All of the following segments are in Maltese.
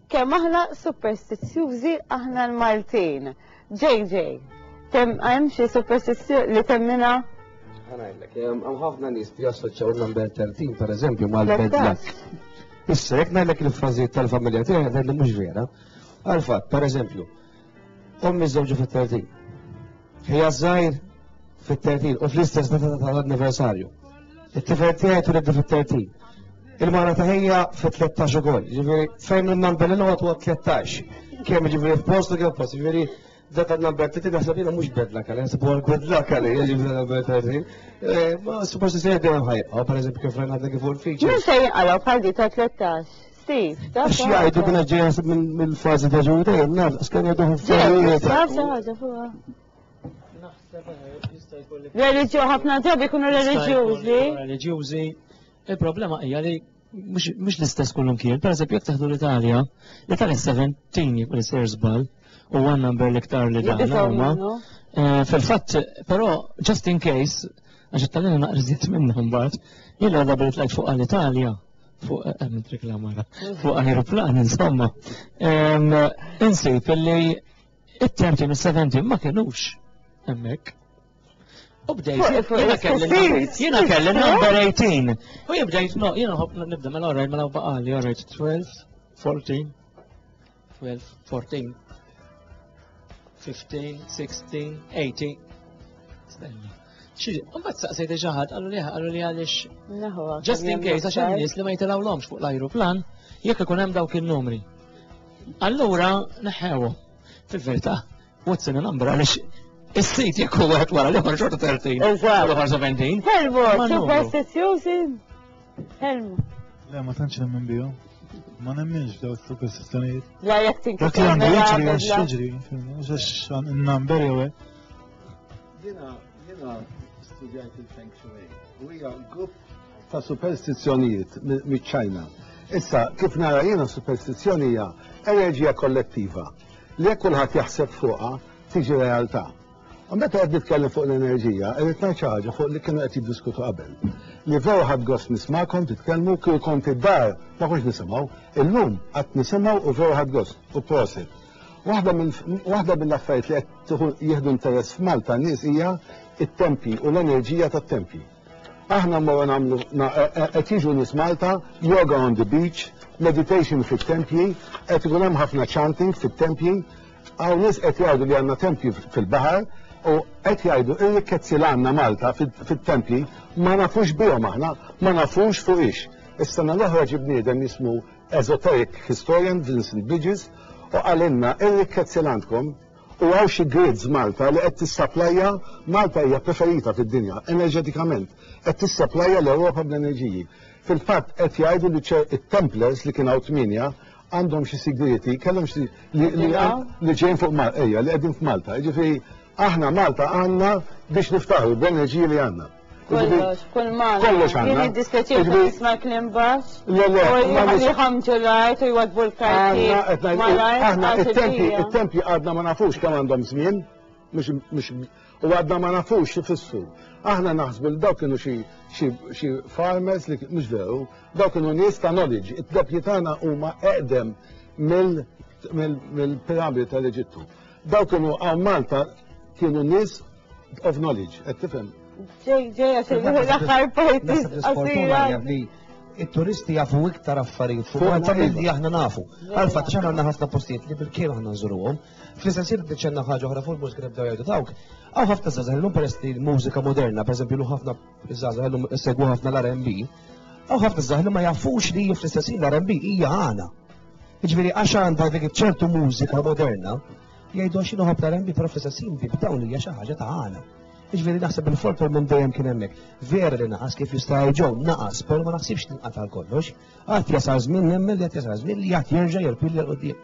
Kemm aħna superstizzjużi aħna l-Maltin. JJ, hemm xi superstizzjoni li temmina? Ħa ngħidlek, hemm ħafna nies li jassoċjaw il-number 13 pereżempju mal-bad luck. Issa jekk ngħidlek il-frażijiet tal-familja tiegħi ngħidlek mhux vera. Għal-fatt, pereżempju, ommi żewġu fit-30. Ħija żgħir fit-30 u fl-istess data tal-anniversarju. It-tifel tiegħi tuliddu fit-30. Il-mara ta' ħija fit-13 ukoll. Ġifieri fejn il-number li noqgħod huwa 13. Kemm ġifieri f'postu kemm post. Ġifieri data number 30 naħseb jiena mhux bad luck għalih, naħseb huwa good luck għalih, ġifieri number 30. Eh, ma suppost se dejjem ħajqa, pereżempju kif rajna għadna kif fuq il-feature. Min se jinqalgħu bħal di ta' 13? Steve, ta' Għax jgħidu kien ġejja mill-fażi ta' ġuri dejjem naf, skan jgħidu ħafna. Taf xi ħaġa fuqha. Reliġju ħafna drabi jkunu reliġjużi. Reliġjużi. Il-problema hija li mhux l-istess kullum kien. Per eżempju, jekk teħdu l-Italja, l-Italja 17 jekk li sejr żball u one number l-iktar li dan huma. Eh, fil-fatt, però just in case, għax it-Taljani naqra minnhom mbagħad, jien għadha billi tlajt fuq għall-Italja fuq eh, hemm reklamara, fuq aeroplan insomma. Insib illi it-13 is-17 ma kienux hemmhekk. U bdejt, jiena kelli jiena kelli number 18. U jien bdejt, no, jiena nħobb nibda mela alright, mela baqali, alright, 12, 14, 12, 14, 15, 16, 18. Stenna. Xi, mbagħad saqsejt xi ħadd qalu li qalu li għaliex. Just in case għax hemm nies li ma jitilgħulhomx fuq l-ajruplan jekk ikun hemm dawk in-numri. Allura neħħewhom. Fil-verità, what's in a number għaliex is-sit jekk huwa wieħed wara l-ieħor xorta 13. Eżatt. L-ieħor 17. Helmu, Ma numru. superstizzjużi. Helmu. Le, ma tantx nemmen bihom. Ma nemminx f'daw is-superstizzjonijiet. La jekk Dak li għandu mela, jiġri għax jiġri, mhux għax in-number jew hekk. Jiena jiena studjajt il-Feng Shui u hija grupp ta' superstizzjonijiet miċ-Ċajna. Issa, kif nara jiena superstizzjoni hija enerġija kollettiva li jekk kulħadd jaħseb fuqha tiġi realtà. U meta qed nitkellem fuq l-enerġija, irrid ngħid xi ħaġa fuq li kienu qed jiddiskutu qabel. Li veru ħadd gost nismakom titkellmu kieku kont id-dar ma kontx nisimgħu, illum qatt nisimgħu u veru ħadd gost u prosit. Waħda waħda mill-affarijiet li qed jieħdu interess f'Malta n-nies hija it-tempji u l-enerġija tat-tempji. Aħna mmorru nagħmlu qed jiġu nies Malta, yoga on the beach, meditation fit-tempji, qed ikun hemm ħafna chanting fit-tempji. Hawn nies qed jgħidu li għandna tempji fil-baħar u qed jgħidu ir-rikkezzi li għandna Malta fit-tempji ma nafux bihom aħna, ma nafux fuqiex. Is-sena l-oħra ġie bniedem jismu esoteric historian Vincent Bridges u qalilna ir-rikkezzi li għandkom U hawn xi grids Malta li qed tissaplajja, Malta hija preferita fid-dinja enerġetikament, qed tissaplajja l-Ewropa bl-enerġiji. Fil-fatt qed jgħidu li it-Templars li kien hawn tmienja għandhom xi sigrieti, kellhom xi li li ġejjin fuq Malta, ejja, li qegħdin f'Malta. Jiġifieri aħna Malta għandna biex niftaħru bl-enerġiji li għandna. Kollox, kull ma. Kollox għandna. Jien jiddispjaċir Jiġifieri- nisma' kliem baxx. Le, le, U ma nis- li ħamġu l-art u jwadbu l-karti. Għandna, qed ngħid, Malajr, aħna għax it-tempji, il-bija. it-tempji għadna ma nafux kemm għandhom żmien, mhux mhux u għadna ma nafux x'ifissru. Aħna naħsbu li dawk kienu xi xi xi farmers li mhux veru, dawk kienu nies ta' knowledge. It-tempji tagħna huma eqdem mill mill-piramidi tal-Eġittu. Dawk kienu hawn Malta kienu nies of knowledge, qed tifhem? Ġej, ġej, għax l-aħħar parti qasira. li it-turisti jafu iktar affarijiet fuq Fuq Malta Malta. milli aħna nafu. Għal-fatt x'aħna għandna ħafna postijiet li bil-kien aħna nżuruhom. Fl-istess ħin diċenna ħaġa oħra fuq il-mużika nibdew jgħidu dawk. Hawn ħafna żgħażagħ illum peress li l-mużika moderna, pereżempju llum ħafna żgħażagħ illum segwu ħafna l-R&B. Hawn ħafna żgħażagħ li ma jafux li fl-istess ħin l-R&B hija għana. Jiġifieri għax għandha dik ċertu mużika moderna, jgħidu għax inħobb l-R&B, però fl-istess ħin dik dawn hija xi ħaġa ta' għana. Jiġifieri naħseb il-folklor minn dejjem kien hemmhekk. Vera li naqas kif jista' jgħid naqas, però ma naħsibx tinqata' kollox. Għad jasal żmien nemmen li għad jasal żmien li għad jerġa' jerpilja 'l quddiem.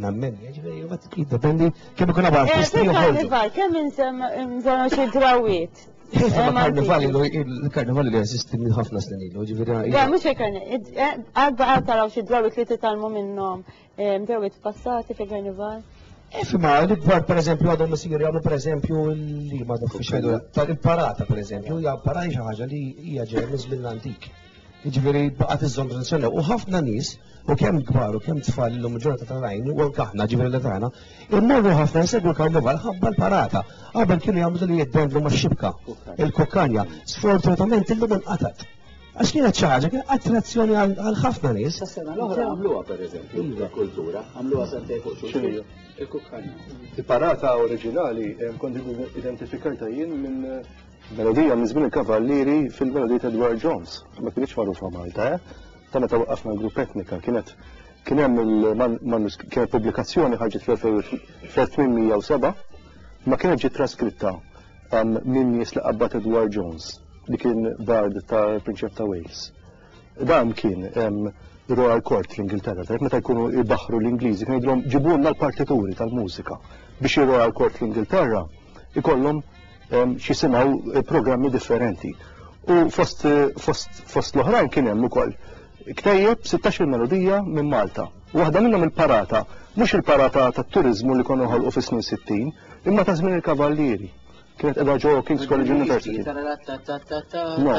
Nemmen, jiġifieri mbagħad jiddependi kemm ikun hawn Eh, artisti joħorġu. Fil-karnival, kemm insemmu xi drawiet? Iva, Eh, ma karnival Malti. ilu il-karnival li jeżisti minn ħafna snin ilu, ġifieri. Le, mhux il-karnival. Għad baqa' taraw xi drawiet li titgħallmu minnhom, eh, drawiet passati fil-karnival. Ifma, l-ikbar per eżempju għadhom isiru jagħmlu per eżempju li ma nafx xejdu tal-parata per eżempju, hija parata xi ħaġa li hija ġejja minn żmien l-antik. Jiġifieri baqgħet iżżomm tradizzjoni u ħafna nies u kemm kbar u kemm tfal illum il-ġurnata tal-għajn u anke aħna ġifieri li tagħna, immorru ħafna jsegwu l-karnival ħabba l-parata. Qabel kienu jagħmlu li jiddendlu max-xibka, il-kukkanja. Sfortunatament illum inqatgħet. Għax kienet xi ħaġa, kien attrazzjoni għal ħafna nies. Sas-sena l-oħra għamluha pereżempju, il-kultura, għamluha sentejn fuq xulxin. Il-kukkanja. Il-parata oriġinali eh, kont identifikajta jien minn eh, melodija minn żmien il-Kavallieri fil-melodija ta' Edward Jones. Ma kienx magħrufa Malta, eh? Ta' meta waqqafna l-grupp etnika kienet kien hemm il-manuskritt kienet pubblikazzjoni ħarġet fl-1807 ma kienet ġiet traskritta minn nies li qabbad Edward Jones li kien bard tal-Prinċep ta' Wales. Dan kien Royal Court fl-Ingilterra, tajb meta jkunu jbaħħru l-Ingliżi kien jgħidulhom ġibulna l-partituri tal-mużika biex ir-Royal Court fl-Ingilterra ikollhom x'jisimgħu eh, programmi differenti. U fost, fost, fost l-oħrajn kien hemm ukoll ktejjeb 16 melodija minn Malta. Waħda minnhom il-parata, mhux il-parata tat-turiżmu li konu ħolqu fis-snin 60, imma ta' żmien il-Kavallieri. Kienet qiegħda ġo King's College University. No,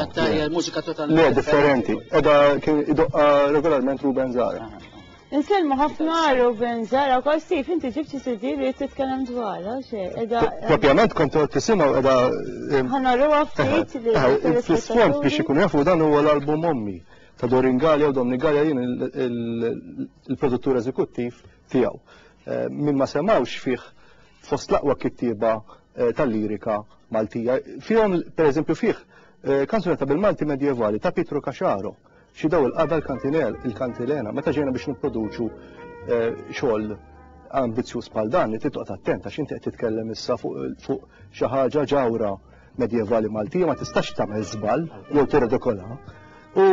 mużika totalment. Le, differenti. Qiegħda kien idoqqa regolarment Ruben Zara. Insellmu ħafna Ruben Zara, kol Steve, inti ġibt xi CD li titkellem dwarha, xi qiegħda. Propjament kont tisimgħu qiegħda. Ħanaruha ftit li. Fl-isfond biex ikun jafu dan huwa l-album Ommi ta' Dorin Galea u Domni Galea jien il-produttur eżekuttiv tiegħu. Eh, min ma semawx fih fost l-aqwa kittieba eh, tal-lirika Maltija. Fihom, per eżempju, fih eh, kanzunetta bil-Malti medjevali ta' Pietro Caxaro, xi daw il-qada l-kantinel, il-kantilena, meta ġejna biex nipproduċu eh, xogħol ambizzjuż bħal dan, li titqgħod attent għax inti qed titkellem issa fuq xi ħaġa ġawra medjevali Maltija ma tistax tagħmel żball jew tirredikola. U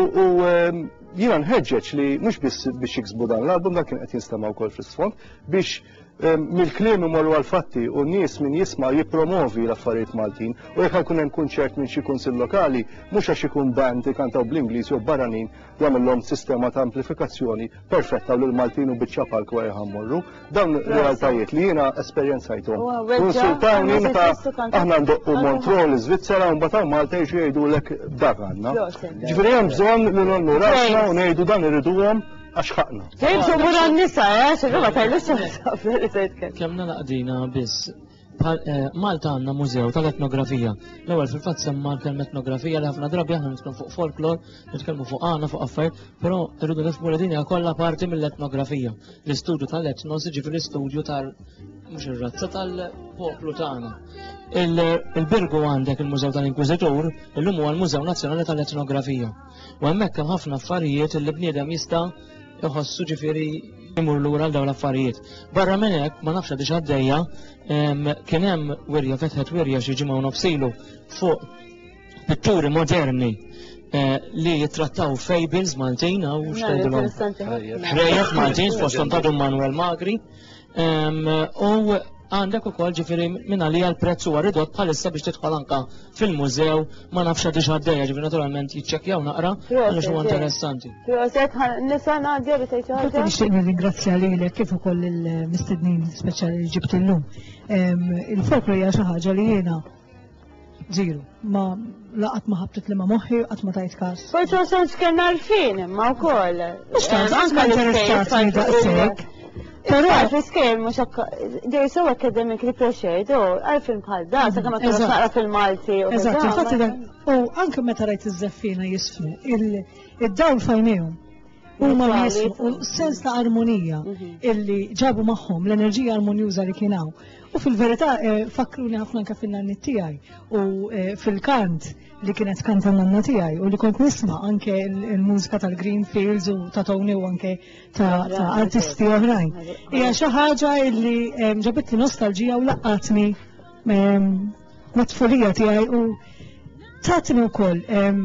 ehm, jiena nħeġġeġ li mhux biss biex jiksbu dan l-album dan kien qed jinstema' wkoll fl-isfond biex ehm, mill-kliem imorru għal-fatti u n-nies min jisma' jippromovi l-affarijiet Maltin u jekk jkun hemm kunċert minn xi kunsill lokali mhux għax ikun band ikantaw bl-Ingliż jew barranin jagħmilhom sistema ta' amplifikazzjoni perfetta u l-Maltin u biċċa palk wara ħammorru. Dawn realtajiet li jiena esperjenzajthom. Insultawni meta aħna ndoqqu Montreal, l-Iżvizzera, u mbagħad Malta jiġu jgħidulek dak għandna. Ġifieri hemm bżonn li nollu rasna u ngħidu dan irriduhom għax ħaqna. James u mura n-nisa, eh, xirru ma tajlux Kemm nalaqdina biss Eh, Malta għandna mużew tal-etnografija. L-ewwel fil-fatt semma l-kelma etnografija li ħafna drabi aħna nitkellmu fuq folklor, nitkellmu fuq għana, fuq affarijiet, però rridu nifhmu li din hija kollha parti mill-etnografija. L-istudju tal-etnos jiġifieri l-istudju tal mhux ir-razza tal-poplu tagħna. Il-Birgu għandek il-Mużew tal-Inkwiżitur, illum huwa l-Mużew Nazzjonali tal-Etnografija. U hemmhekk hemm ħafna affarijiet li bniedem jista' iħossu ġifieri imur lura għal dawn l-affarijiet. Barra minn hekk ma nafx għadix għaddejja kien hemm wirja fetħet wirja xi ġimgħa u nofsilu fuq pitturi moderni eh, li jittrattaw fables Maltin għaw xtajdilhom. Ħrejjef Maltin fosthom ta' Dun Manuel Magri. U għandek ukoll ġifieri minn għalija l-prezz huwa ridott bħalissa biex tidħol anka fil-mużew ma nafx għadix għaddejja ġifieri naturalment jiċċekkjaw naqra għaliex huwa interessanti. Proset, nisa Nadja li tgħid ħaġa. Nixtieq nirringrazzja lilek kif ukoll il-mistednin speċjali li ġibt illum. Il-folklor hija xi ħaġa li jiena Zero. Ma laqat ma ħabtet li ma moħħi, qatt ma tajt każ. Forsi ma sonx kellna għarfien imma wkoll. Mhux tant, qatt ma interessatni daqshekk. Però fl-iskejjel mhux they're so academically pressured, u għarfien bħal da, sakemm ma tkunx naqra fil-Malti. Eżatt, infatti u anke meta rajt iż-żeffina jisfnu, id-dawl fajnejhom. Huma jismu u sens ta' armonija mhm. illi ġabu magħhom l-enerġija armonjuża li kien hawn. U fil-verità eh, fakruni ħafna anke fin-nanni tiegħi u eh, fil-kant li kienet kanta nanna tiegħi u li kont nisma' anke l-mużika tal-Green Fields u ta' Tony u anke ta' artisti oħrajn. Hija xi ħaġa illi eh, ġabitli nostalġija u laqatni ehm, mat-tfulija tiegħi u tatni wkoll ehm,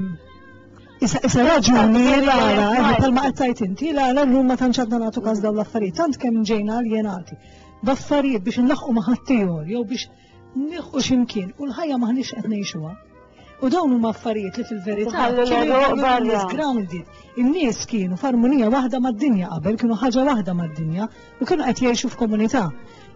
Issa issa raġuni l-għala, eh, bħalma qed tgħid inti, l-għala llum ma tantx għadna nagħtu każ dawn l-affarijiet, tant kemm ġejna aljenati b'affarijiet biex inlaħqu ma' ħaddieħor jew biex nilħqu x'imkien u l-ħajja maħniex qed ngħixuha. U dawn huma affarijiet li fil-verità kienu grounded. In-nies kienu f'armonija waħda mad-dinja qabel, kienu ħaġa waħda mad-dinja u kienu qed jgħixu f'komunità.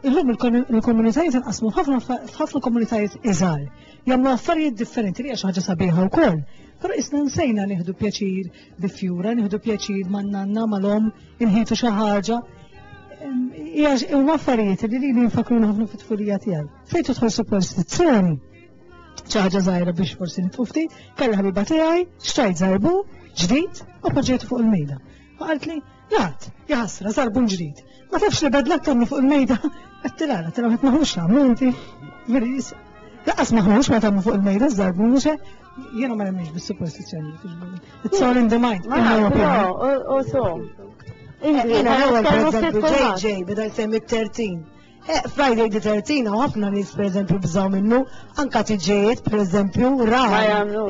Illum il-komunitajiet inqasmu f'ħafna komunitajiet iżgħar. Jagħmlu affarijiet differenti li hija xi ħaġa sabiħa wkoll. Però isna nsejna nieħdu pjaċir bi fjura, nieħdu pjaċir man-nanna, mal-omm, inħitu xi ħaġa. Hija huma affarijiet li lili jinfakruni ħafna fit-tfulija tiegħi. Fejn tidħol superstizzjoni, xi ħaġa żgħira biex forsi nitfu ftit, kellha ħabiba tiegħi, xtrajt żarbun ġdid u poġġejtu fuq il-mejda. U qaltli, Jgħid, jaħasra, żarbun ġdid. Ma tafx li bedlak tagħmlu fuq il-mejda? Għedtilha, għedtilha ma tmaħux nagħmlu inti. Veri, Laqas maħux ma tagħmlu fuq il-mejda żarbun mhux hekk. Jiena ma nemminx bis-superstizzjoni. It's all in the mind. Ma u so. Jiena l-ewwel pereżempju JJ beda jsemmi t-13. Eh, Friday the 13 hawn ħafna nies pereżempju bżaw minnu, anka tiġijiet pereżempju ra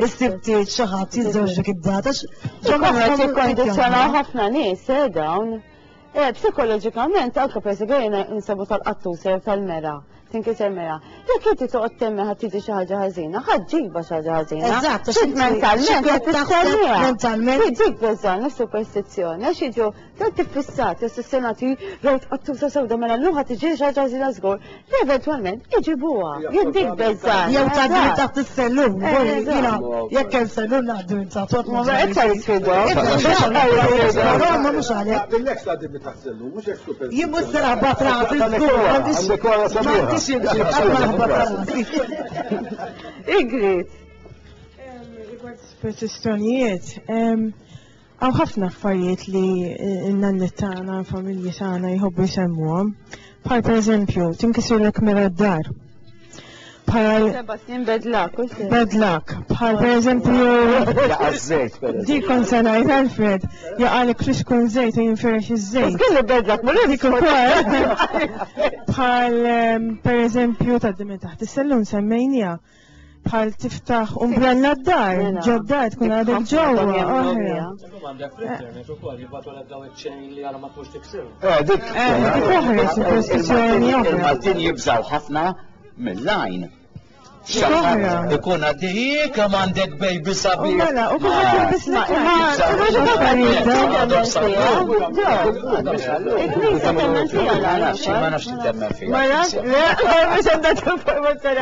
is-sibtiet xi ħadd jiżżewġ dik id-data. Ġo qed jikkondizzjonaw ħafna nies eh, dawn. Eh, psikoloġikament anke pereżempju jiena insabu tal-qattus jew tal-mera, tinkiser mera. Jekk inti toqgħod temmen ħadd tiġi xi ħaġa ħażina, ħadd ġiba xi ħaġa ħażina. Eżatt, mentalment qed tistenniha. Mentalment. Dik beżgħan, superstizzjoni, għax jiġu Tant iffissati, ossessjonati, rajt qattusa sewda mela llum ħa tiġi xi ħaġa ħażina żgur, li eventwalment iġibuha. Jien dik beżgħan. Jew tgħaddi minn taħt is-sellum, jiena jekk hemm sellum ngħaddi minn taħt. Ma iktar isfidhom. Ma mhux għalhekk. Billek tgħaddi minn taħt sellum, mhux hekk super. Jien mhux se naħbat rasi żgur, m'għandix imxi, ma naħbat rasi. Ingrid. Rigward superstizzjonijiet, Hawn ħafna affarijiet li n-nanniet tagħna, l-familji tagħna jħobbu jsemmuhom. Bħal pereżempju, tinkisirlek mera d-dar. Bħal Seba' snin bad luck, u xejn. Bad luck. Bħal pereżempju. Jaqa' żejt pereżempju. Dik kont se ngħid Alfred, jaqalek flixkun żejt u jinfirex iż-żejt. Kelli bad luck, ma Dik ukoll. Bħal pereżempju tgħaddi minn taħt is-sellum semmejniha. Bħal tiftaħ umbrella d-dar, Mela. ġo d-dar tkun għadek ġewwa. Oħra. Illum għandek fl-internet ukoll jibgħatulek daw iċ-chain li għala ma tmux tiksiru. Eh, dik. Eh, dik oħra, superstizzjoni oħra. Il-Maltin jibżaw ħafna mill-lajn. Oħra. Ikun għaddej kemm għandek baby U sabiħ. mela, u kulħadd jilbis Il-Knisja temmen fiha Ma nafx, ma nafx temmen fiha. Ma nafx, le, mhux għandha informazzjoni.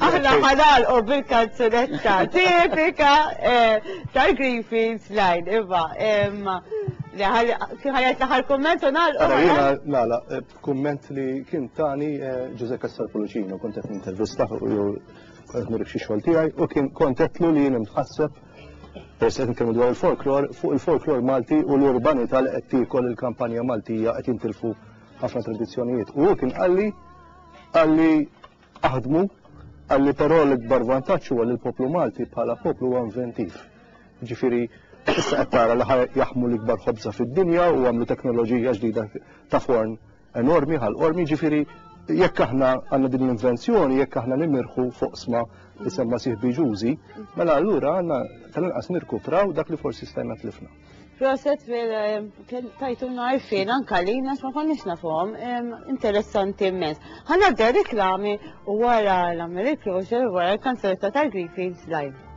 Aħna ħanal u bil-kanzunetta tipika eh, tal-Greenfields Line, iva. Kif ħajat l-aħħar kumment u nagħlqu. Ara jiena nagħlaq eh, kumment li kien tani eh, Ġuże Cassar Pullicino, kont qed nintervista u jew kont qed nurik xi xogħol tiegħi u kien kont qedtlu li jien imtħasseb peress qed nitkellmu dwar il-folklor, fuq il-folklor Malti u l-urbanità li qed tiekol il-kampanja Maltija qed jintilfu ħafna tradizzjonijiet. U hu kien qalli qalli aħdmu, qalli però l-ikbar vantaġġ huwa li l-poplu Malti bħala poplu huwa inventiv. Ġifieri issa qed tara li jaħmu l-ikbar ħobża fid-dinja u għamlu teknoloġija ġdida ta' forn enormi ħal qormi, ġifieri jekk aħna għandna din l-invenzjoni, jekk aħna nimirħu fuq sma li semma sieħbi Ġużi, mela allura għandna tal-inqas nirkupraw dak li forsi stajna tlifna. Proset tajtuna għarfien anka lina ma konniex nafuhom, interessanti immens. Ħanadda reklami u wara l-Amerik Closure wara l-kanzunetta tal-Greenfields Live.